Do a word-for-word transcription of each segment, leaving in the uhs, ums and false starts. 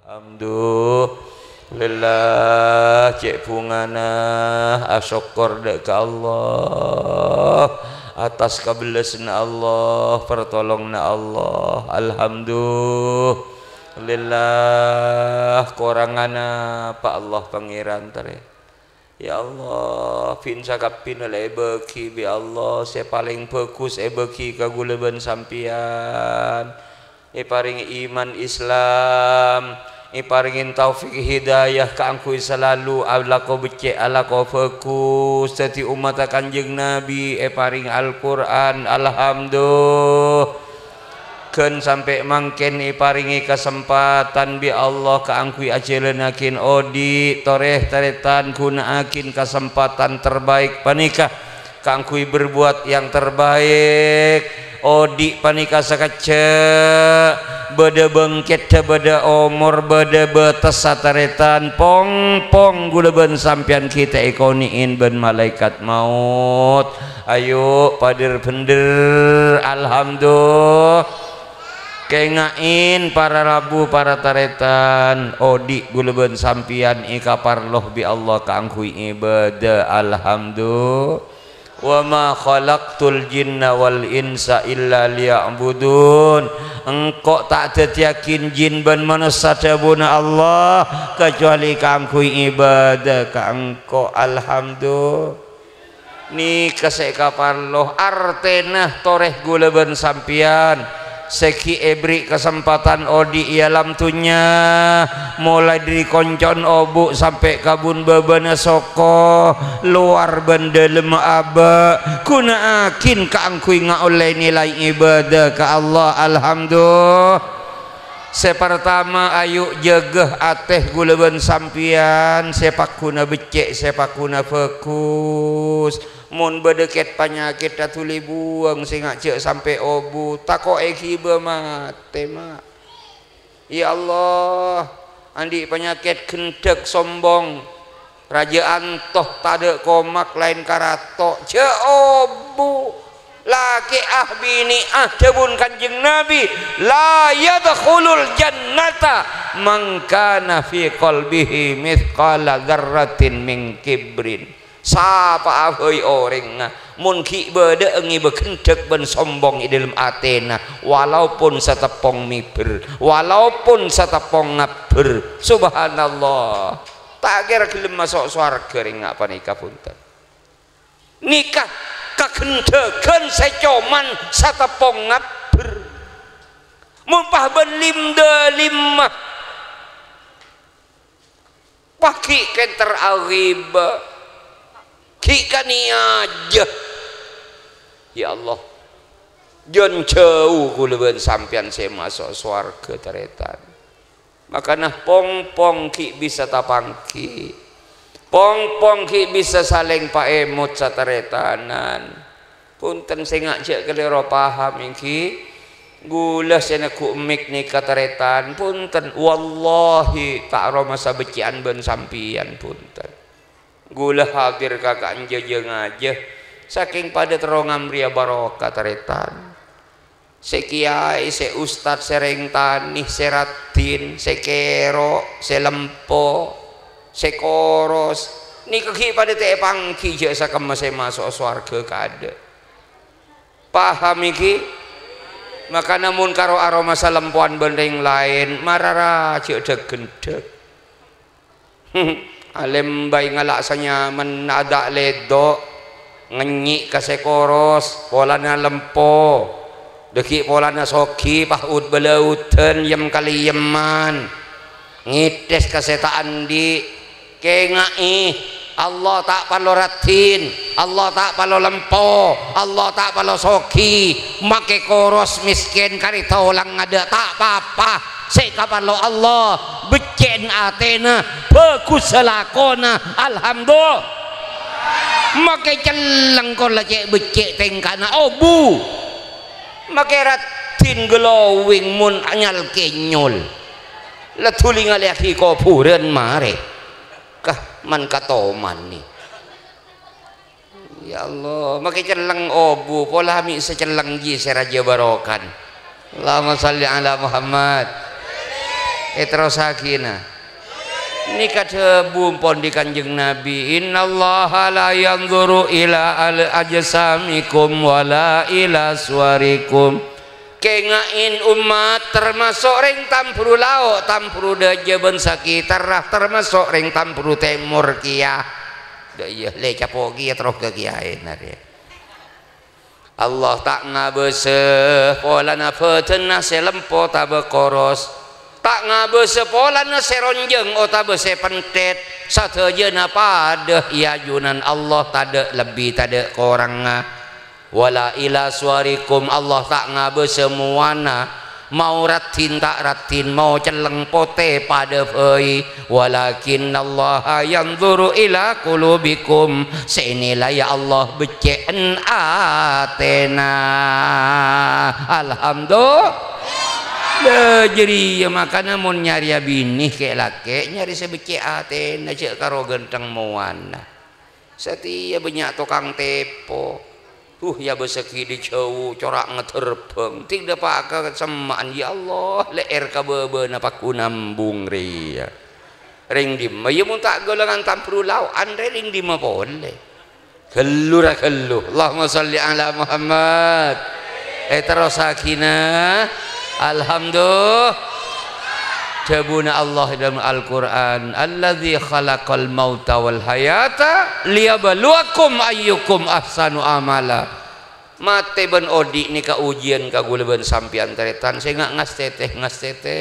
Alhamdulillah, cè' bhungana asokkor dâ' ka Allah, attas kabellassanna Allah, partolonganna Allah. Alhamdulillah, korangana pa' Allah Pangèran, tarè. Ya Allah, bhâi sakabbhiyânna la èbâghi bi' Allah sè palèng bhâghus èbâghi ka ghulâ bân sampèyan. Èparèngè iman Islam, èparèngè taufik hidayah kaangghuy salalu alako beccè', alako bhâghus, dhâddhi ommatta Kanjeng Nabi, èparèngè Al-Qur'an. Alhamdulillah. Ghân sampè' mangkèn èparèngè kasempadhân bi' Allah kaangghuy ajhâlânnaghin odi', torè tarètan ghuna'aghin kasempadhân terbaik panèka kaangghuy berbuat yang terbaik. Odi' panèka sakejjhâ', bâdâ bângkèdhâ, bâdâ omor, bâdâ bâtessa tarètan, pong-pong ghulâ bân sampèyan ghi' ta' èkonè'è bân malaèkat maot. Ayo, pader-bender. Alhamdulillah. Kènga'è, para rabu, para tarètan, odi' ghulâ bân sampèyan èkaparlo bi' Allah kaangghuy ibâdâ. Alhamdulillah. "Wa ma khalaqtul jinna wal insa illa liya'budun." Engko' ta' dhâddhiyâghin jin bân manossa, dhâbuna Allah, kajhâbhâli kaangghuy ibâdâ ka Engko'. Alhamdulillah. Nèka sè èkaparlo, artèna torè ghulâ bân sampèyan sè ghi' èberri' kasempadhân odi' è alam dhunnya, molaè dhâri konco'na obu' sampè' kabun bâbâna soko, lowar bân dâlemma abâ', ghuna'aghin kaangghuy ngaollè nilai ibâdâ ka Allah. Alhamdulillah. Sè partama, ayo jâgâ atè ghulâ bân sampèyan sè pagghuna beccè', sè pagghuna bhâghus. Mon bâdâ kèt-panyakèt, ta' dhuli buwâng, sènga' jhâ' sampè' obu, tako' èghibâ matè, ma'. Ya Allah, andi' panyakèt ghendhâk sombong. Rajâ anto, tadâ' komak laèn karato, jhâ' obu. Lakè'ah binè'ah, dhâbuna Kanjeng Nabi, "La yadkhulul jannata man kana fi qalbihi mitsqala dzarratin min kibrin." Sapa'a bhâi orèngnga, mon ghi' bâdâ'â ngèbâ ghendhâk bân sombong è dâlem atèna, walaupun sateppong mèbèr, walaupun sateppong ngabbher. Subhanallah. Ta' kèra ghellem maso' sowarghâ rèng nga' panèka, bhunten. Nèka kaghendhâghân sè coma sateppong ngabbher. Mon pas bân lim-dâlimma, pas ghi' kènter aghibâ, ghi' kanèyajâ. Ya Allah, jân jhâu ghulâ bân sampèyan sè maso' sowarghâ, tarètan. Makana pong-pong ghi' bisa tapangghi. Pong-pong ghi' bisa salèng paèmot sataretanan. Bhunten, sènga' jhâ' kalèro paham, èngghi. Ghulâ sè neggu' mik nèka tarètan, bhunten. Wallahi, ta' aromasa beccè'an bân sampèyan, bhunten. Ghulâ hadir ka ka'anjâ jâ-ngajâ, sakèng padâ terro ngamrèya barokah, tarètan. Sè kèyaè, sè ustad, sè rèng tanè, sè raddhin, sè kèro', sè lempo, sè koros, nèka ghi' padâ ta' èpangghi jhâ' sakemma sè maso' sowarghâ kaadâ'. Paham, èngghi? Makana mon karo aromasa lempowan bân rèng laèn, mara ra jhâ' dhâk-ghendhâk. Alèmbay ngala' sanyaman, ada' lèdok, ngènyi' ka sè koros, polana lempo. Dhâggi' polana soghi, pas ud-bâlâudhân, yem-kalèyemman. Ngètès ka sè ta' andi'. Kèngaè, Allah ta' parlo raddhin, Allah ta' parlo lempo, Allah ta' parlo soghi. Makè koros, mèskèn, karè tolang ada', ta' pa-apa. Sè èkaparlo Allah, beccè'na atèna, bhâghussa lakona, alhamdulillah. Makè celleng, kola cè' beccè' tèngkana obu. Makè raddhin glowing mon nyal-kènyol. La dhuli ngalèyaghi kobhurân marè. Kah, man katomanè. Ya Allah, makè celleng obu, pola mè' sè celleng jiyâ sè rajâ barokan. Allahumma shalli ala Muhammad. Èterrossaghina. Nèka dhâbu pon dhi Kanjeng Nabi, "Innallaha la yanzuru ila al-, ajsamikum wala ila suwarikum." Kènga'è, ommat, tamaso' rèng Tamburu Lao', Tamburu Dâjâ bân sakètarra, tamaso' rèng Tamburu Tèmor kèya. Dâ' iyâ, lè capo' kèya terro ka kèyaèna rè. Allah ta' ngabâsa polana bhâdhânna sè lempo otabâ koros, ta' ngabâsa polana sè ronjhâng otabâ sè pentèt, sadhâjâna padâ è ajunan Allah, tadâ' lebbi, tadâ' korangnga. Wala ila suwarikum, Allah ta' ngabâsa mowana, mao raddhin ta' raddhin, mao celleng potè padâ bhâi. Walakinnallaha yanzuru ila qulubikum, sè ènilai Allah beccè'en atèna. Alhamdulillah. Lah, jârèya makana mon nyarèya binè kè'-lakè', nyarè sè beccè' atèna, jhâ' karo ghântheng mowana. Satèya bânnya' tokang tèpo. Huh, èabâsaghi dâri jhâu, cora' ngaterbhâng. Tèng dâpa' ka semma'an, "Ya Allah, lè'èr ka bâbâna paghun ambung rèya." Rèng dimma, iyâ, mon ta' ghâlângan Tamburu Lao', anrè rèng dimma polè? Ghâllu ra ghâllu. Allahumma shalli ala Muhammad. Èterrossaghina. Alhamdulillah. Dhâbuna Allah è dâlem Al-Qur'an, "Allazi khalaqal mauta wal hayata liyabluwakum ayyukum ahsanu amala." Matè bân odi' nèka ujiyân ka ghulâ bân sampèyan, tarètan. Sènga' ngastètè, ngastètè.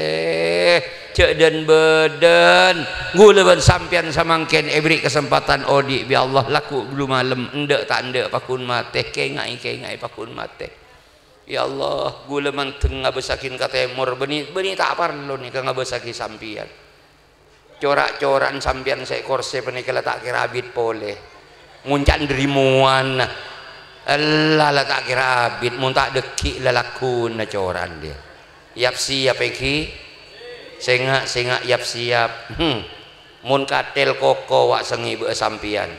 Jhâ' dân-bâdân. Ghulâ bân sampèyan samangkèn èberri' kasempadhân odi' bi' Allah, lagghu' bâllu malem, endâ' ta' endâ' paghun matè, kènga'è, kènga'è paghun matè. Ya Allah, ghulâ mandeng ngabâsaghin ka tèmor, bânnè, bânnè ta' parlo nèka ngabâsaghi sampèyan. Cora'-cora'an sampèyan sè è korsè panèka la ta' kèra abit polè. Mon ca' ndâri mowana. Ella la ta' kèra abit, mon ta' dhâggi' lalakonna cora'an dhiyâ. Yap-siyap, èngghi? Sènga', sènga', yap-siyap. Hmm. Mon kathèl koko wa' sè ngèbâ'â sampèyan.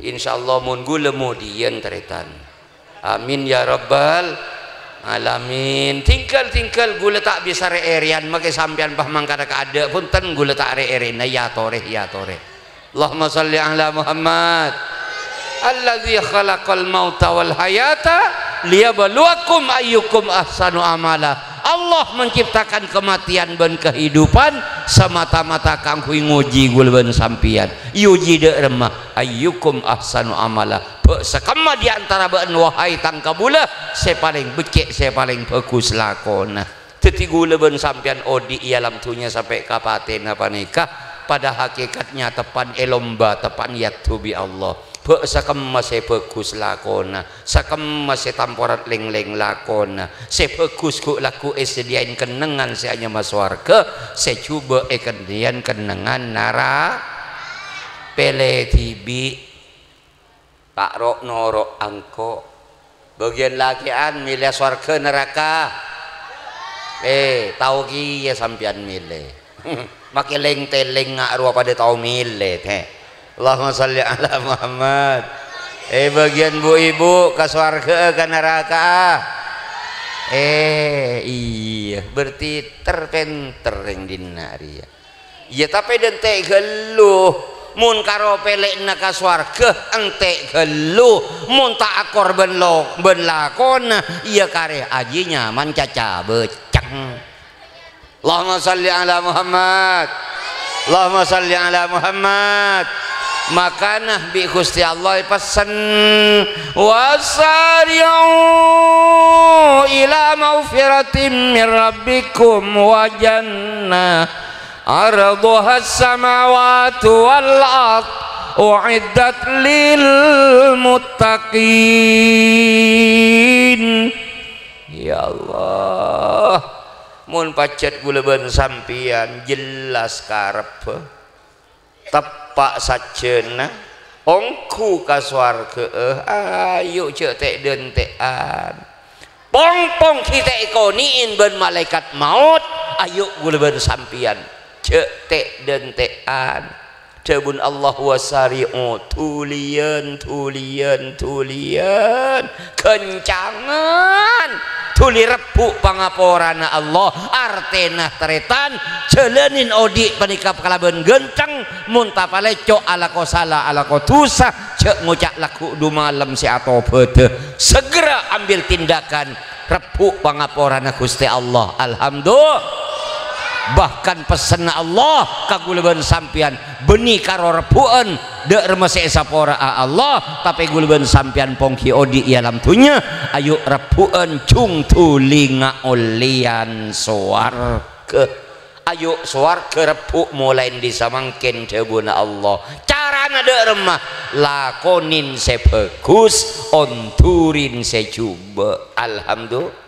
Insyaallah mon ghulâ modiyân, tarètan. Amin ya rabbal alamin. Tinggal-tinggal ghulâ ta' bisa rè-èrèyan, makè sampèyan pas mangkana kaadâ', bhunten ghulâ ta' rè-èrèna, èyatorè, èyatorè. Allahumma shalli ala Muhammad. Allazi khalaqal mauta wal hayata liyabluwakum ayyukum ahsanu amala. Allah menciptakan kematian bân kehidupan semata-mata kaangghuy ngojhi ghulâ bân sampèyan. Èojhi dâ' remma? Ayyukum ahsanu amala. Bâ' sakemma di antara bâ'na, wahai tang kabulâ, sè palèng beccè', sè palèng bhâghus lakona. Dhâddhi ghulâ bân sampèyan odi' è alam dhunnya sampè' ka patèna panèka, padâ hakèkatnya teppan è lomba, teppan èaddhu bi' Allah. Bâ' sakemma sè bhâghus lakona, sakemma sè tamporat lèng-lèng lakona, sè bhâghus ghu'-lagghu' èsadhiyâin kennengngan sè anyama sowarghâ, sè jhubâ' èkennèyan kennengngan nara-, pèlè dhibi'. Ta' ro'-noro' engko'. Bâgiyân lakè'an mèlè sowarghâ naraka? Eh, tao kèya sampèyan mèlè. Makè lèng-tèlèng nga' rowa padâ tao mèlè, tè. Allahumma shalli ala Muhammad. Eh, bâgiyân bu-ibu ka sowarghâ'â ka naraka'a? Eh, iyâ, berarti ter-pènter rèng dinna' rèya. Iyâ, tapè dântè' ghâllu. Mon karo pèlèna ka sowarghâ, èntè' ghâllu. Mon ta' akor bân lo-, bân lakona, iyâ karè ajiyâ nyaman caca bâceng. Allahumma shalli ala Muhammad. Allahumma shalli ala Muhammad. Makana bi' Ghustè Allah èpessen, "Wasari'u ila maghfiratin min rabbikum wa jannah." Ardhuhas samawatu wal ard, u'iddat lil muttaqin. Ya Allah, mon pajhât ghulâ bân sampèyan jelas karebbhâ, teppa' sajjhâna, ongghu ka sowarghâ'â, ayo jhâ' tè'-dântè'an. Pong-pong ghi' ta' èkonè'è bân malaèkat maot, ayo ghulâ bân sampèyan, jhâ' tè'-dântè'an. Dhâbuna Allah, "Wasari'u," dhuliyân, dhuliyân, dhuliyân, ghâncangan, dhuli rebbhu' pangaporana Allah, artèna tarètan, jhâlânin odi' panèka kalabân ghânteng, mon ta' palèco' alako sala, alako dhusa, jhâ' ngoca' lagghu' du malem sè atobhâdhâ. Segera ambil tindakan, rebbhu' pangaporana Ghustè Allah. Alhamdulillah. Bahkan pessenna Allah ka ghulâ bân sampèyan, bânnè karo rebbhu'ân, dâ' remma sè èsapora'a Allah, tapè ghulâ bân sampèyan ponggi odi' è alam dhunnya, ayo' rebbhu'ân jhung dhuli ngaollèyan sowarghâ. Ayo' sowarghâ rebbhu' molaè dhi' samangkèn, dhâbuna Allah. Carana dâ' remma? Lakonè sè bhâghus, ondurè sè jhubâ'. Alhamdulillah.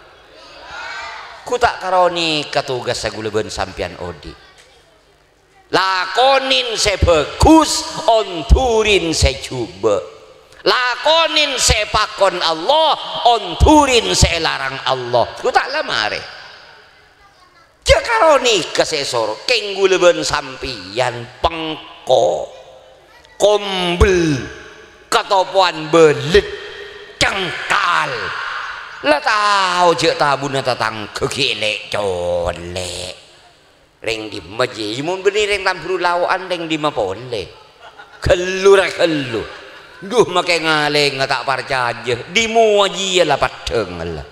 Ghu ta' karè nèka tugassa ghulâ bân sampèyan odi'. Lakonè sè bhâghus, ondurè sè jhubâ'. Lakonè sè èpakon Allah, ondurè sè èlarang Allah. Ghu ta' la marè. Jhâ' karè nèka sè èsoro, kèng ghulâ bân sampèyan pengko, kombel, katopowan bâlât, cengkal. La tao jhâ' tabuna tatangghâ ghi' lè'-colè'. Rèng dimma jiyâ? Mon bânnè rèng Tamburu Lao'an, rèng dimma polè? Ghâllu ra ghâllu. Dhu, makè ngalènga ta' parcajâ. Dimma jiyâ la peddhâng la.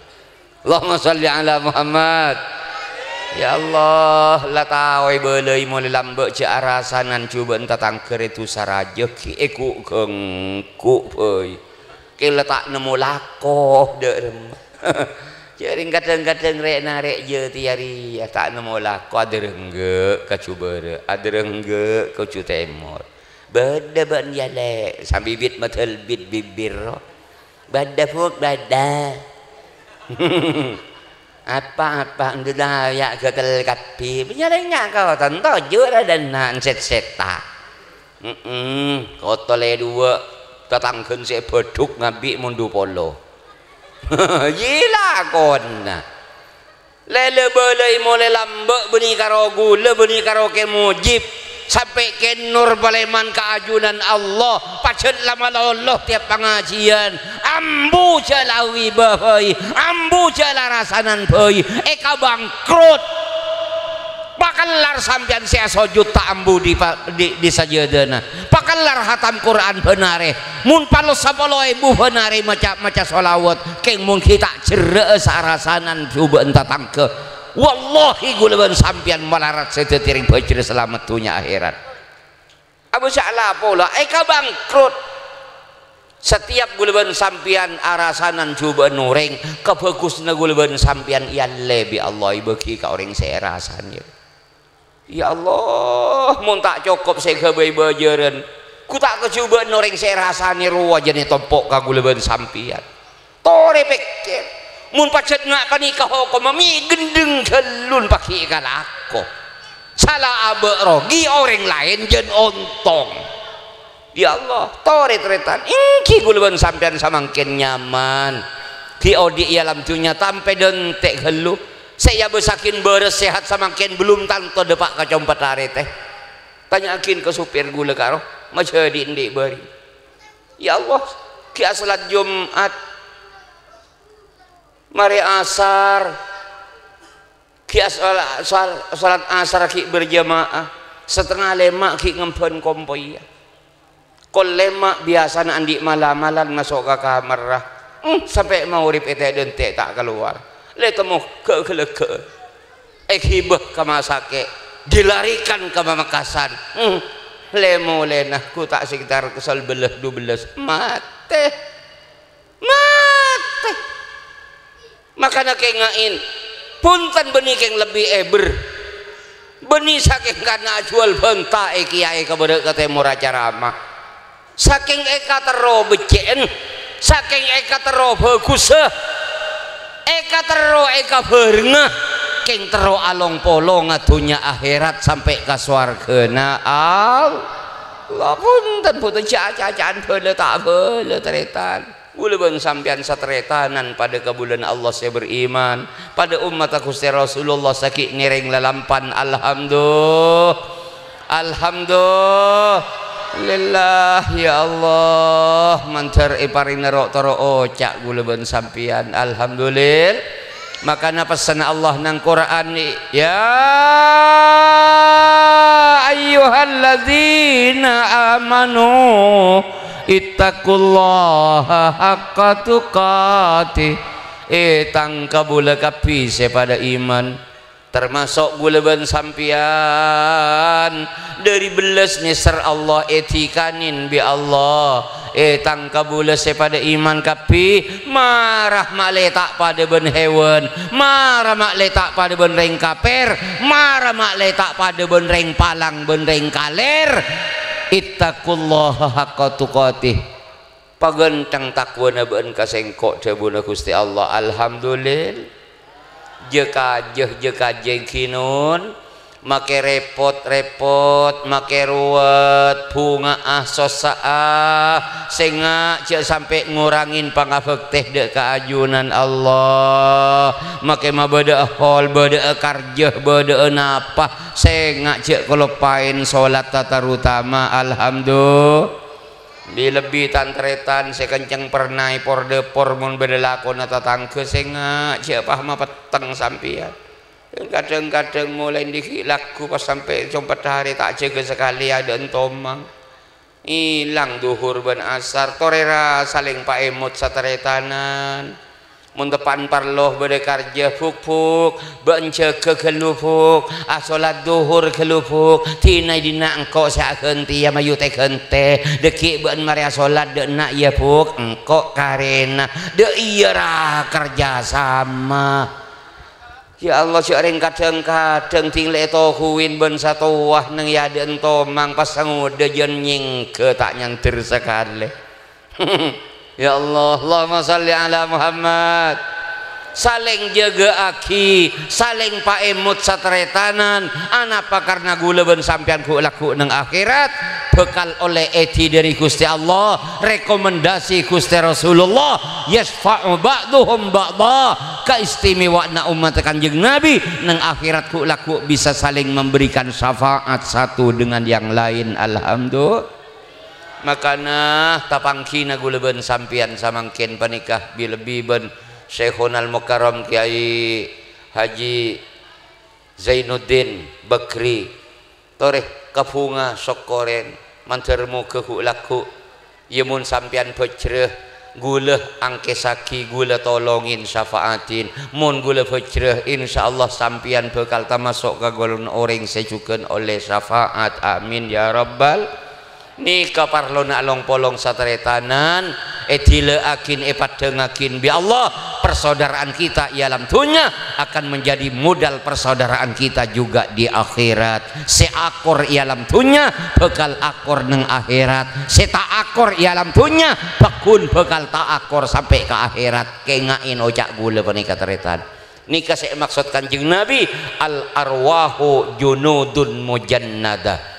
Allahumma shalli ala Muhammad. Ya Allah, la tao èbâlâi molè lambâ' jhâ' arasanan jhubâ'ân tatangghâ rè dhusa rajâ ghi' èghu'-ghângghu' bhâi. Kèng la ta' nemmo lako dâ' remma. Jhâring kadhâng-kadhâng rè'-narè' jâ tèya rèya ta' nemmo lako, adârângghâ' ka jhubârâ', adârângghâ' ka jhu tèmor. Bâdâ bâ'na yâ, Lè', sabibit madhâlbit bibir. Bâdâ, Fuk, bâdâ. Apa-apa, ndulâ ya' ghâtel kabbhi. Nyarèngnga' ka tanto jur adâna sèt-sètta. Hemm, kotolè duwâ', tatangghân sè bâdhuk ngabi' mondu polo. Yilakona. Lèlè bâlâi molè lambâ' bânnè karo ghulâ, bânnè karo Kè Mujib. Sampè' Kè Nur palèman ka ajunan Allah, pajhât la malolo tèyap pangajiyân. Ambu jhâ' la wiba bhâi, ambu jhâ' la rasanan bhâi, èkabangkrut. Pakellar sampèyan sè asojud ta' ambu dhi pa-, dhi, dhi sajâdâna. Pakellar hatam Qur'an bân arè. Mon palos sapolo èbu bân arè maca, maca shalawat, kèng mon ghi' ta' jherrâ'â sa-, rasanan jhubâ'ân tatangghâ. Wallahi, ghulâ bân sampèyan malarat sè dhâddhi rèng bhâjhrâ salamet dhunnya akhèrat. Abu Sa'la pola èkabangkrut. Satèyap ghulâ bân sampèyan arasanan jhubâ'ân orèng, kabhâghusânna ghulâ bân sampèyan èallè bi' Allah, èbâghi ka orèng sè èrasanè. Ya Allah, mon ta' cokop sè èghâbây bâjârân, ghu ta' kajhubâ'ân orèng sè èrasanè rowa jhâ' ètompo' ka ghulâ bân sampèyan. Torè pèkkèr, mon pajhât nga' panèka hokomma, mè' ghendheng ghâllu pagghi' èkalako. Sala abâ' rogi, orèng laèn jhân ontong. Ya Allah, torè tarètan, èngghi ghulâ bân sampèyan samangkèn nyaman. Ghi' odi' è alam dhunnya tampè dântè' ghâllu. Sè èabâssaghin bârâs sehat samangkèn bellum tanto dâpa' ka compo'na arè tè. Tanya'aghin ka sopir ghulâ karo, majâdi' andi' bâri'. Ya Allah, ghi' asolat Jum'at. Marè asar. Ghi' asola-, sal-, salat asar ghi' berjamaah. Satengnga lèma' ghi' ngembhân kompoyya. Kol lèma' biyasana andi' mala-malan maso' ka kamarra. Hmm, sampè' maghrib ètè'-dântè' ta' kalowar. Lè temmo ghâ-, ghâlâghâ'ân. Èghibâ ka masakè'. Dilarikan ka Pamekasan. Hmm, lè-molèna ghu ta' sekitar sèbellâs dubellâs. Matè. Matè. Makana kènga'è, bhunten bânnè kèng lebbi èbher. Bânnè sakèng kana' ajhuwâl bhânta è kèyaè ka bârâ' ka tèmor acarama. Sakèng èkaterro beccè'en, sakèng èkaterro bhâghussa, èkaterro èkabhârengnga, kèng terro along-polonga dhunnya akhèrat sampè' ka sowarghâna Allah. Bhunten, bhunten, ca'-caca'an bhâlâ ta' bhâlâ, tarètan. Ghulâ bân sampèyan satarètanan padâ kabulâna Allah sè beriman, padâ ommatta Ghustè Rasulullah sè ghi' ngèrèng lalampan, alhamdulillah. Alhamdulillah, ya Allah, mandhâr èparèngana ro'-toro' oca' ghulâ bân sampèyan. Alhamdulillah. Makana pessenna Allah neng Qur'an, "Ya ayyuhalladzina amanu ittaqullaha haqqa tuqatih." È tang kabulâ kabbhi sè padâ iman, tamaso' ghulâ bân sampèyan, dhâri bellas nèser Allah èdikanè bi' Allah. È tang kabulâ sè padâ iman kabbhi, mara ma'lè ta' padâ bân hèwan, mara ma'lè ta' padâ bân rèng kapèr, mara ma'lè ta' padâ bân rèng palang bân rèng kalèr. Ittaqullaha haqqa tuqatih. Paghântheng takowana bâ'na ka sèngko', dhâbuna Ghustè Allah. Alhamdulillah. Jâ-kajâ, jâ-kajâ ènggi non. Makè rèpot-rèpot, makè ruwet, bhunga'a, sossa'a. Sènga' jâ' sampè' ngorangè pangabhâktè dhâ' ka ajunan Allah. Makè mabâdâ'â hol, bâdâ'â karjâ, bâdâ'â napa. Sènga' jâ' kaloppaèn solat tatarotama. Alhamdulillah. Bi-lebbi tan-tarètan sè kencèng pernah èpor-dâpor mon bâdâ lakona tatangghâ, sènga' jâ' pas mapetteng sampèyan. Kadhâng-kadhâng molaè dâgghi' lagghu pas sampè' compet arè ta' jâgâ sakalè adâ'na tomang. Èlang dhuhur bân asar, torè ra salèng paèmot satarètanan. Mon teppa'na parlo bâdâ karjâ, Buk, Buk, bâ'na jâgâ ghâllu, Buk, asolat dhuhur ghâllu, Buk, dina-dina engko' sè aghântèya mayu tè-ghântè, dâgghi' bâ'na marè asolat dâ' enna' iyâ, Buk, engko' karèna. Dâ' iyâ ra kerja sama. Ya Allah, jâ' rèng kadhâng-kadhâng ding lè ètohuwin bân satowa neng è adâ'na tomang pas sangodâ jân nyèngghâ ta' nyandher sakalè. Ya Allah, Allahumma shalli ala Muhammad. Salèng jâgâ'aghi, salèng paèmot satarètanan. Anapa? Karna ghulâ bân sampèyan ghu'-lagghu' neng akhèrat bhâkal ollè èdhi dhâri Ghustè Allah, rekomendasi Ghustè Rasulullah, "Yasfa'u ba'duhum ba'da." Kaistimewaanna ommatta Kanjeng Nabi neng akhèrat ghu'-lagghu' bisa saling memberikan syafaat satu dengan yang lain. Alhamdulillah. Makana tapangghina ghulâ bân sampèyan samangkèn panèka bi-lebbi bân Syaikhonal Mukarram Kyai Haji Zainuddin Bakri. Torè kabhunga sokkorèn, mandhâr moghâ ghu'-lagghu'. Iyâ, mon sampèyan bhâjrâ, ghulâ angkèsaghi, ghulâ tolongin, syafaatin. Mon ghulâ bhâjrâ, insyaallah sampèyan bhâkal tamaso' ka golongan orèng sè jhughân ollè syafaat. Amin ya rabbal. Nèka parlona along-polong satarètanan, èdilâ'aghin, èpaddhângaghin bi' Allah. Persaudaraan kita è alam dhunnya akan menjadi modal persaudaraan kita juga di akhirat. Sè akor è alam dhunnya bhâkal akor neng akhèrat. Sè ta' akor è alam dhunnya pagghun bhâkal ta' akor sampè' ka akhèrat. Kènga'è oca' ghulâ panèka, tarètan. Nèka sè èmaksod Kanjeng Nabi, "Al arwahu junudun mujannadah."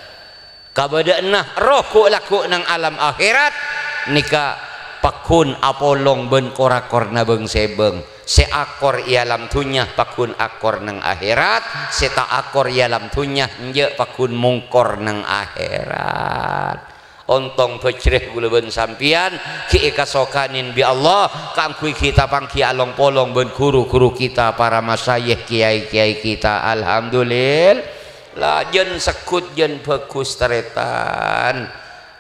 Kabâdâ'ânna roh ghu'-lagghu' neng alam akhèrat nèka pagghun apolong bân kor-akorna bâng-sèbâng. Sè akor è alam dhunnya pagghun akor neng akhèrat, sè ta' akor è alam dhunnya enjâ' pagghun mongkor neng akhèrat. Ontong bhâjrâ ghulâ bân sampèyan ghi' èkasokanè bi' Allah kaangghuy ghi' tapanggi along-polong bân ru-ghuru kita, para masyayikh, kiai-kiai kita. Alhamdulillah. La, jân segghut, jân bhâghus, tarètan.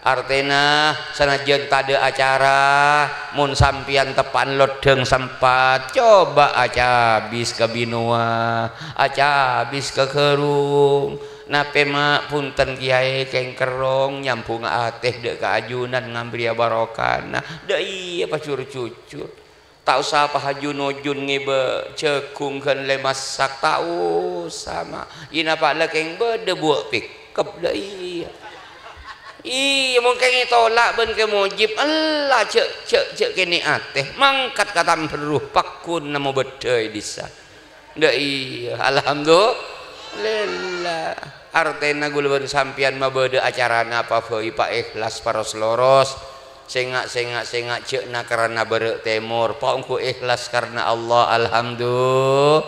Artèna, sanajjân tadâ' acara, mon sampèyan teppa'na loddhâng sempat, coba acabis ka binowa, acabis ka ghârung. Napè, Ma', bhunten, Kèyaè, kèng kerrong nyambhungnga atè dâ' ka ajunan, ngambriyâ barokana. Dâ' iyâ, pajur-jujur. Ta' osa pahajun-ojun ngèbâ jhâghung ghân lè masak, ta' osa, Ma'. Iyâ napa la kèng bâdâ buwâ' pèkkep, la iyâ. Iyâ, mon kèng ètola' bân Kè Mojib, ella jhâ', jhâ', jhâ' kènè' atè, mangkat ka Tambârru, pagghun nammo bâddhâ è dissa. Dâ' iyâ, alhamdulillah. Artèna ghulâ bân sampèyan mabâdâ acara napa bhâi paèhlas paros-loros. Sènga', sènga', sènga' jhâ' na karana bârâ' tèmor, paongghu èhlas karana Allah, alhamdulillah.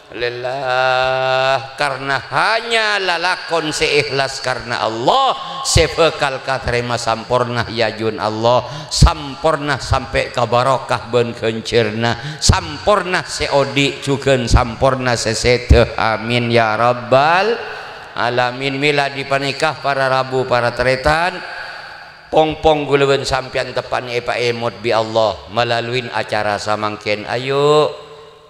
Lillah, karna hanya lalakon sè ikhlas karna Allah, sè bhâkal katarèma samporna è ajunanna Allah, samporna sampè' ka barokah bân ghânjhârânna, samporna sè odi' jhughân samporna sè sèdhâ. Amin ya rabbal alamin. Mèla dhi-panèka para rabu, para tarètan, pong-pong ghulâ bân sampèyan teppa'na èpaèmot bi' Allah malaluin acara samangkèn. Ayo,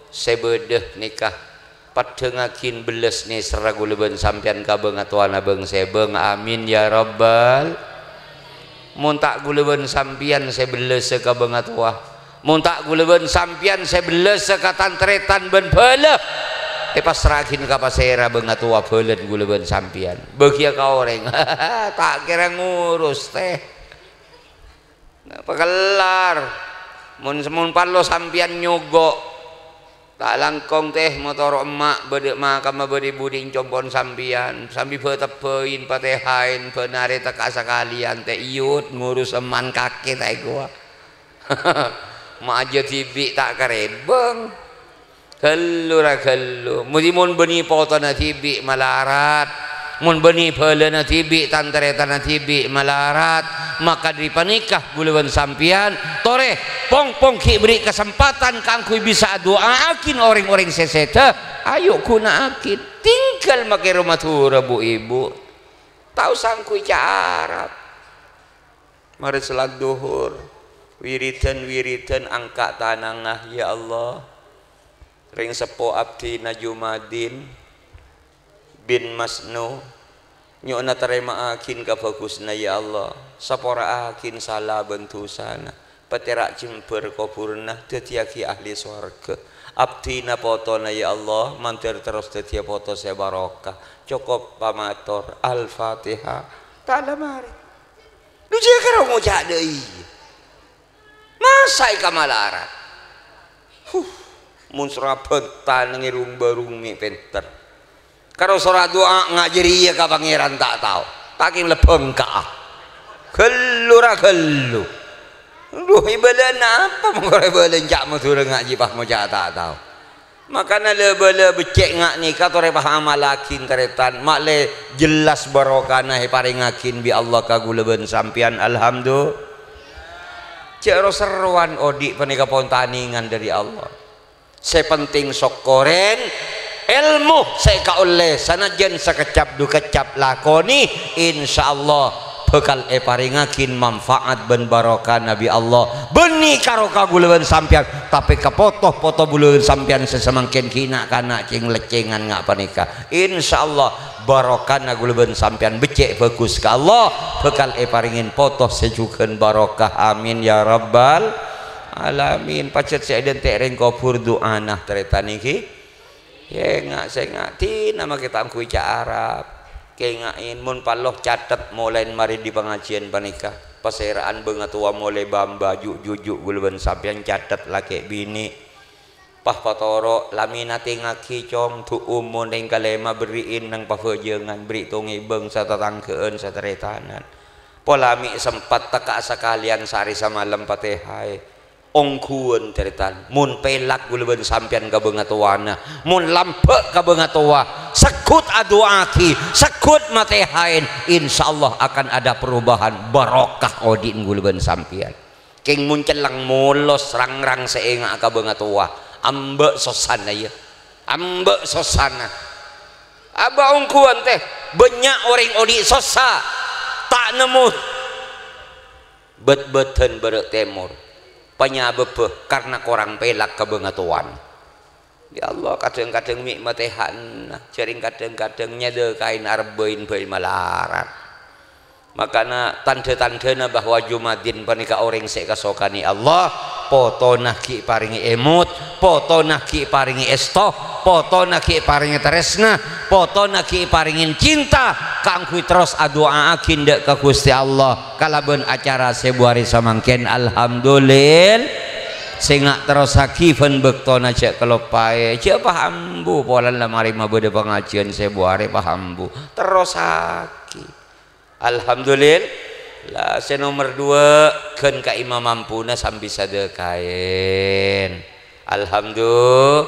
sè bâdâ nèka, paddhângaghin bellas nèserra ghulâ bân sampèyan ka bângatowana bâng-sèbâng. Amin ya rabbal. Mon ta' ghulâ bân sampèyan sè bellasa ka bângatowa, mon ta' ghulâ bân sampèyan sè bellasa ka tan-tarètan bân bhâlâ, èpassra'aghin ka pasèra bângatowa bhâlâna ghulâ bân sampèyan. Bâgiyâ ka orèng. Ta' kèra ngurus, tèh. Napa kellar? Mon, mon parlo sampèyan nyogo', ta' langkong, tèh, motoro' emma' bâdâ, makamma bâdâ è budi' compo'na sampèyan, sambi bâ-tebbhâin, patèhaèn, bân arè tekka' sakalèyan, tèh, iyut ngurus emma' kakè, ta' èkowa. Ma' ajâ dhibi' ta' karèbâng. Ghâllu ra ghâllu. Modi mon bânnè potona dhibi' malarat, mon bânnè bhâlâna dhibi', tan-tarètanna dhibi' malarat, maka dâri panèka ghulâ bân sampèyan, torè, pong-pong ghi' bherri' kasempadhân kaangghuy bisa adu'aaghin orèng-orèng sè sèdhâ. Ayo ghuna'aghin. Tinggal makè roma dhura, bu-ibu. Ta' osa angghuy ca' Arab. Marè salat dhuhur, wiridan-wiridan angka' tanangnga, "Ya Allah, rèng seppo abdhina Jumadin bin Masnu, nyo'ona tarèma'aghin kabhâghusânna, ya Allah, sapora'aghin sala bân dhusana, patèra' jembhâr kobhurânna, dhâddhiyâghi ahli sowarghâ. Abdhina potona, ya Allah, mandhâr terros dhâddhiyâ poto sè barokah." Cokop pamator. Al-Fatihah. Ta' la marè. Lu jiyâ karo ngoca' dâ' iyâ. Masa' èkamalarat? Huh, mon sora bhânta neng è rung-bârung mè' pènter. Karo sora du'a nga' jârèya ka Pangèran ta' tao. Ta' kèng lebbhâng ka'a. Ghâllu ra ghâllu. Duh, èbâlâna apa mon karo èbâlâ ca' Madhurâ nga' jiyâ pas ngoca' ta' tao. Makana la-bâlâ beccè' nga' nèka torè pahamallaghin, tarètan, ma'lè jellas barokana èparèngaghin bi' Allah ka ghulâ bân sampèyan. Alhamdu-, jhâ' ro-serrowan odi' panèka pon tanèngan dâri Allah. Sè penting sokkorèn èlmo sè èkaollè, sanajjhân sakeccap du keccap lakonè, insyaallah bhâkal èparèngaghin manfaat bân barokana bi' Allah. Bânnè karo ka ghulâ bân sampèyan, tapè ka poto-poto ghulâ bân sampèyan sè samangkèn ghi' na'-kana' cèng-leccèngan nga' panèka. Insyaallah, barokana ghulâ bân sampèyan beccè' bhâghus ka Allah, bhâkal èparèngè poto sè jhughân barokah. Amin ya rabbal alamin. Pajhât sè èdhânte' rèng kobhur du'ana, tarètan nèka. Kènga', sènga', dina makè ta' angghuy ca' Arab. Kènga'è, mon parlo catet molaè marè dâri pangajiyân panèka. Pasèra'an bângatowa molaè bâ-embâ, ju'-juju' ghulâ bân sampèyan catet lakè' binè'. Pas patoro', la mènatèngaghi, Cong, du'um mon rèng kalèma berri'in neng pabhâjângan, berri' tong-ngèbâng, satatangghâ'ân, satarètanan. Pola mè' sempat tekka' sakalèyan saarè samalem patèhaè. Ongghuwân, tarètan, mon pèlak ghulâ bân sampèyan ka bângatowana, mon lambâ' ka bângatowa, segghut adu'aaghi, segghut matèhaèn, insyaallah akan ada perubahan, barokah odi'na ghulâ bân sampèyan. Kèng mon celleng molos rangrang sè ènga' ka bângatowa, ambâ' sossana, yâ. Ambâ' sossana. Abâ' ongghuwân, tèh, bânnya' orèng odi' sossa, ta' nemmo bât-bâdân bârâ' tèmor, panyabâbbhâ karna korang pèlak ka bângatowana. Ya Allah, kadhâng-kadhâng mè' matèha'na, jhârèng kadhâng-kadhâng nyadâkaè arebbhâi bhâi malarat. Makana tandhâ-tandhâna bahwa Jumadin panèka orèng sè èkasokanè Allah, potona ghi' parèngè èmot, potona ghi' parèngè èsto, potona ghi' parèngè tarèsna, potona ghi' parèngè cinta, kaangghuy terros adu'aaghi dâ' ka Ghustè Allah kalabân acara sè buarè samangkèn. Alhamdulil-, sènga' terrossaghi bân bâktona jhâ' kaloppaè, jhâ' pas ambu polana la marè mabâdâ pangajiyân sè buarè, pas ambu. Terrossaghi. Alhamdulil-, la, sè nomer duwâ', ghân ka'imma mampuna sambi sadâkaèn. Alhamdu-,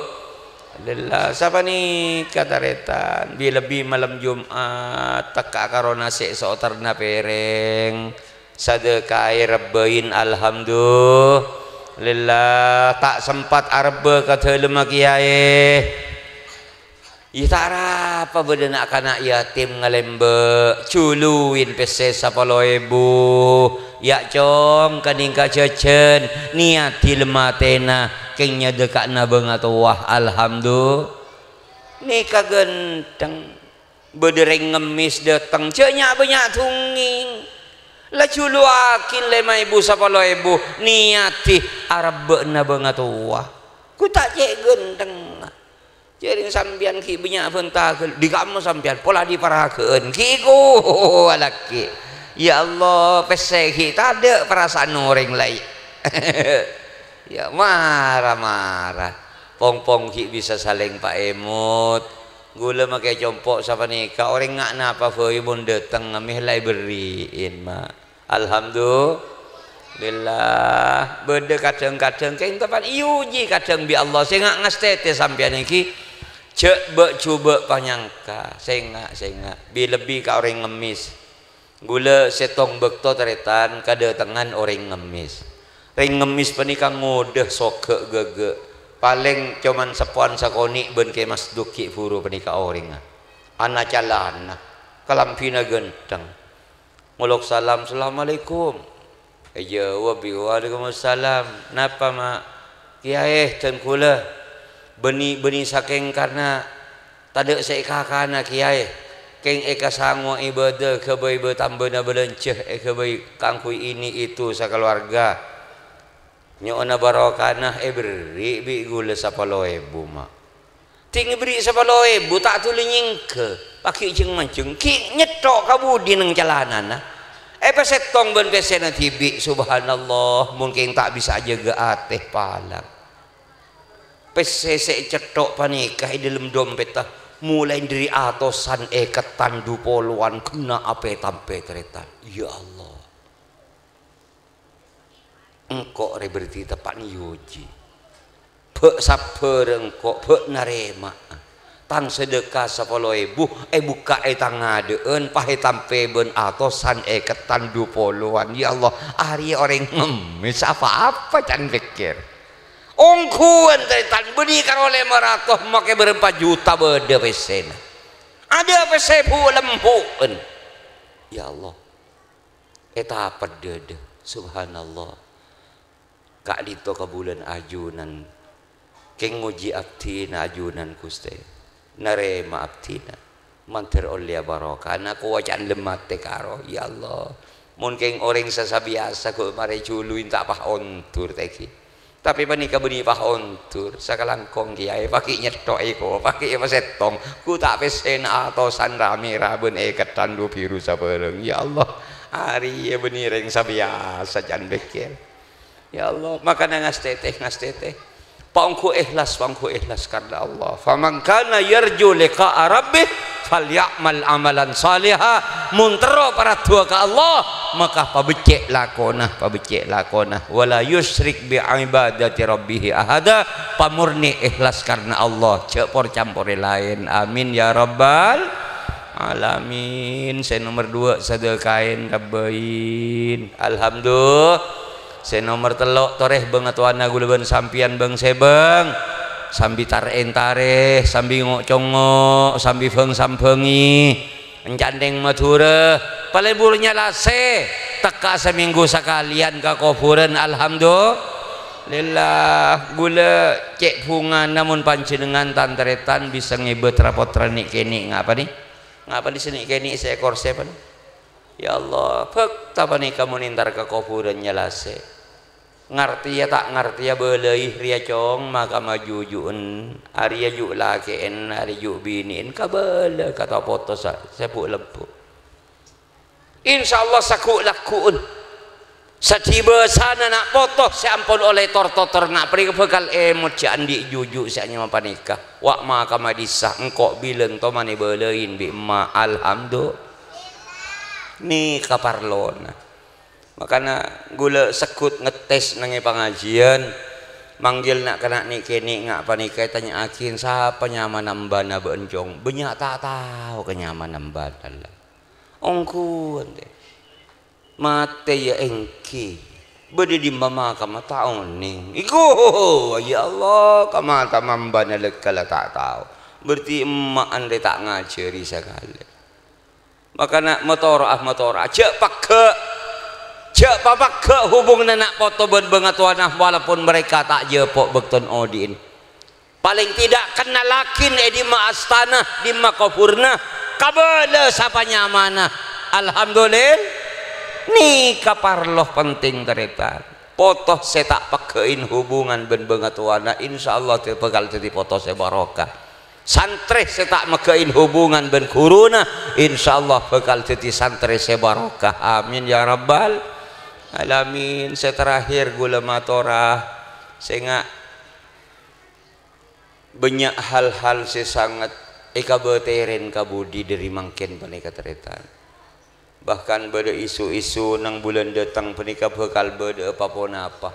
Alhamdulillah, sapanèka tarètan, bi-, lebbi malem Jum'at, tekka' karo nasè' so'oterna pèrèng, sadhâkaè rebbhâin, alhamdulillah, ta' sempat arebbhâ ka dhâlemma kèyaè. Iyâ, ta' arapa bâdâ na'-kana' yatim ngalèmbâ', juluwin pèssè sapolo èbu. Yâ', Cong, ka'dinto jhâjhân, nèyadhi lem-atèna, kèng nyadhâka'na bângatowa, alhamdu-, nèka ghântheng. Bâdâ rèng ngemmès dâteng, jhâ' nya'-bânnya' dhungngèng. La juluwaghi lèma èbu, sapolo èbu, nèyadhi arebbhâ'na bângatowa. Ghu ta' cè' ghânthengnga. Jhârèng sampèyan ghi' bânnya' bhânta ghâl-, dhi kamma sampèyan, pola dhi paraghâ'ân, ghi' kowa lakè'. Ya Allah, pèssè ghi' tadâ' parasa'an orèng laèn. Ya, mara-mara. Pong-pong ghi' bisa salèng paèmot. Ghulâ makè compo' sapanèka, orèng nga' napa bhâi mon dâteng, mè' la èberri'in, Ma'. Alhamdulillah, bâdâ kadhâng-kadhâng kèng teppa'na èojhi kadhâng bi' Allah, sènga' ngastètè sampèyan ènggi, jhâ' bâ'-jhubâ' panyangka, sènga', sènga', bi-, lebbi ka orèng ngemmès. Ghulâ sèttong bâkto tarètan kadâtengan orèng ngemmès. Rèng ngemmès panèka ngodâ soghâ' ghâghâ', palèng coma seppowan sakonè' bân Kè Masduk ghi' bhuru panèka orèngnga. Ana calana, kalambhina ghântheng. Ngolok salam, "Assalamualaikum." Èjâwâb bi', "Waalaikumsalam. Napa, Ma'?" "Kèyaè, dân ghulâ bânnè, bânnè sakèng karna tadâ' sè èkakana, Kèyaè. Kèng èkasangowa ibâdâ, èghâbây bâ-, tambâna bâlânjhâ, èghâbây kaangghuy ini itu sakaluwarga. Nyo'ona barokana, èberri' bi' ghulâ sapolo èbu, Ma'." Ding èberri' sapolo èbu, ta' dhuli nyèngghâ, paghi' jhâng-manjhâng, ghi' nyetthok ka budi neng calanana. Èpasèttong bân pèssèna dhibi', subhanallah, mon kèng ta' bisa ajâgâ atè palang. Pèssè sè ècetthok panèka è dhâlem dompetta, molaè dhâri atosan èkettan, dhu polowan, ghenna' apè-tampè tarètan. Ya Allah. Engko' rè berarti teppa'na èojhi. Bâ' sabbhâr engko', bâ' narèma'a. Tang sadhâka sapolo èbu èbukka'è tang adâ'ân, pas ètampè bân atosan èkettan dhu polowan. Ya Allah, arèya orèng ngemmès apa-apa can pèkkèr. Ongghuwân tarètan bânnè karo lèma ratos makè bârâmpa juta bâdâ pèssèna. Adâ' pèssè bu'-lembu'en. Ya Allah. Ètapet dâdâ, subhanallah. Ka'dinto kabulân ajunan, kèng ngojhi abdhina ajunan, Ghustè. Narèma abdhina. Mandhâr ollèya barokana, kowaca'an lem atè karo, ya Allah. Mon kèng orèng sè sabiyasa ghu' marè juluwin ta' pas ondur tèghi. Tapè panèka bânnè pas ondur, sakalangkong kèyaè, paghi' nyetthok èko, paghi' èpasèttong, ghu' ta' pèssèna atosan ra-mèra bân èkettan dhu bhiru sabhârâng. Ya Allah, arèya bânnè rèng sabiyasa can pèkkèr. Ya Allah, makana ngastètè, ngastètè. Paongghu èhlas, paongghu èhlas karna Allah. "Faman kana yarju liqa'a rabbih falya'mal amalan shaliha." Mon terro paraduwâ ka Allah, maka pabeccè' lakona, pabeccè' lakona. "Wa la yusyrik bi ibadati rabbih ahada." Pamornè èhlas karna Allah, jhâ' por-camporè laèn. Amin ya rabbal alamin. Sè nomer duwâ' sadhâkaèn kabbhâin. Alhamdulillah. Sè nomer tello', torè bângatowana ghulâ bân sampèyan bâng-sèbâng, sambi tar-èntarè, sambi ngo'-congo', sambi bâng-sambhângè, èncantèng Madhurâ, palebur nyalasè, tekka samènggu sakalèyan ka kobhurân, alhamdulillah. Ghulâ cè' bhungana mon panjhennengngan tan-tarètan bisa ngèbâ tra-pottra nè'-kènè', ngapa nè? Ngapa nè' sè nè'-kènè' sè èkorsè, pan? Ya Allah, bhâkta panèka mon entar ka kobhurân nyalasè. Ngartèya ta' ngartèya bâlâi rèya, Cong, makam ajuju'en, arèya ju' lakè'en, arèya ju' binè'en, kabâlâ ka ta' poto sa-, sè bu'-lembu'. Insyaallah saghu'-lagghu'en. Sadhibâsana na' poto sè ampon ollè tor-totor na' panèka bhâkal èmot jhâ' andi' juju' sè anyama panèka. Wa' makam dhissa', engko' bilân tomanè bâlâi bi' emma', alhamdulillah. Nèka parlona. Makana ghulâ segghut ngettes neng è pangajiyân, Manggil na'-kana' nè'-kènè' nga' panèka ètanya'aghi, "Sapa nyamana embana bâ'na, Cong?" Bânnya' ta' tao ka nyamana embana, la. Ongghuwân, tè. Matè, iyâ èngghi. Bâdâ è dimma makamma ta' onèng. Iku, ya Allah, ka matama embana lèkka la ta' tao. Berarti emma'an rè ta' ngajhâri sakalè. Makana matoro'a, matoro'a. Jhâ' pegghâ'. Jhâ' papegghâ' hubunganna na' poto bân bângatowana, walaupun mereka ta' jhâpo' bâktona odi'in. Palèng tidak kennalaghin è dimma astana, dimma kobhurna, kabâlâ sapa nyamana. Alhamdulillah. Nèka parlo penting, tarètan. Poto sè ta' pegghâ'in hubungan bân bângatowana, insyaallah bhâkal dhâddhi poto sè barokah. Santrè sè ta' meghâ'in hubungan bân ghuruna, insyaallah bhâkal dhâddhi santrè sè barokah. Amin ya rabbal alamin. Sè terakhir, ghulâ matora, sènga' bânnya' hal-hal sè sanget èkabâtèrèn ka budi dhâri mangkèn panèka, tarètan. Bahkan bâdâ isu-isu neng bulân dâteng panèka bhâkal bâdâ'â pa-ponapa.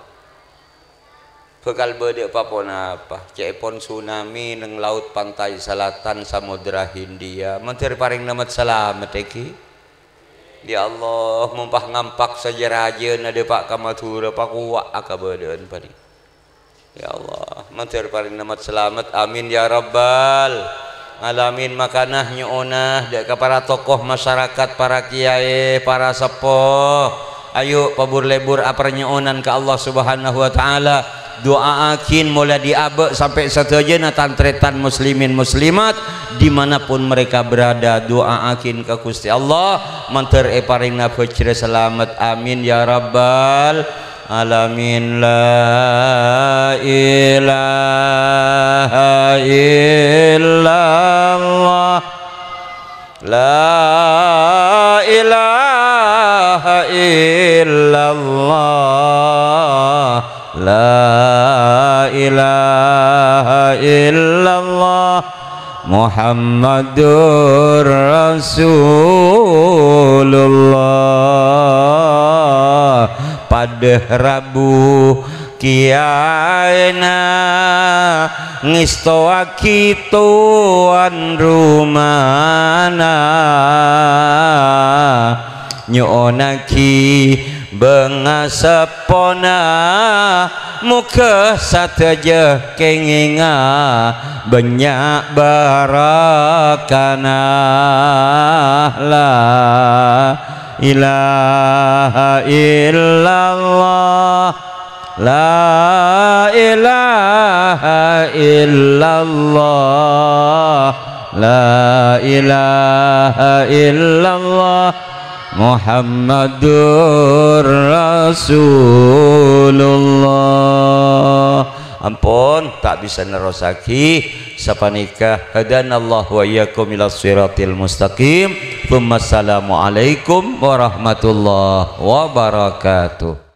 Bhâkal bâdâ'â pa-ponapa. Ca'èpon tsunami neng Laut Pantai Selatan Samudra Hindia. Mandhâr parèng namet salamet, èngghi. Ya Allah, mon pas ngampak sajâ-rajâna dâpa' ka Madhurâ, pakowa'a kabâdâ'ân panèka. Ya Allah, mandhâr parèng namet salamet. Amin ya rabbal alamin. Makana nyo'ona dâ' ka para tokoh masyarakat, para kiyaè, para seppo. Ayo pabur-lebur aparnyo'onan ka Allah Subhanahu wa Ta'ala. Du'aaghin molaè dâri abâ' sampè' sadhâjâna tan-tarètan muslimin muslimat, di mana pun mereka berada. Du'aaghin ka Ghustè Allah, mandhâr èparèngana bhâjhrâ salamet. Amin ya rabbal alamin. La ilaha illallah. La ilaha illallah. La ilaha illallah. Muhammadur Rasulullah. Padâ rabu kiyaèna ngèstowaghi towan rumana. Nyo'onaghi bângaseppona, moghâ sadhâjâ kèngènga bânnya' barakkana. La ilaha illallah. La ilaha illallah. La ilaha illallah. Muhammadur Rasulullah. Ampon, ta' bisa nerrosaghi. Sapanèka, hadanallahu wa iyyakum ila shiratil mustaqim. Tsumma assalamualaikum warahmatullahi wabarakatuh.